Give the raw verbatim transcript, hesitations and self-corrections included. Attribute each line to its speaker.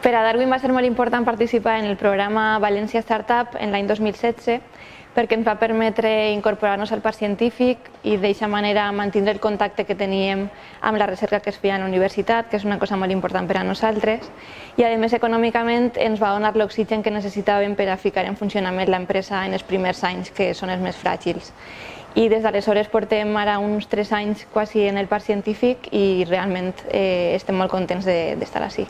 Speaker 1: Per a Darwin va ser molt important participar en el programa València Startup en l'any dos mil setze perquè ens va permetre incorporar-nos al parc científic i d'aquesta manera mantenir el contacte que teníem amb la recerca que es feia a la universitat, que és una cosa molt important per a nosaltres, i a més econòmicament ens va donar l'oxigen que necessitàvem per a ficar en funcionament l'empresa en els primers anys, que són els més fràgils. I des d'aleshores portem ara uns tres anys quasi en el parc científic i realment eh, estem molt contents d'estar ací.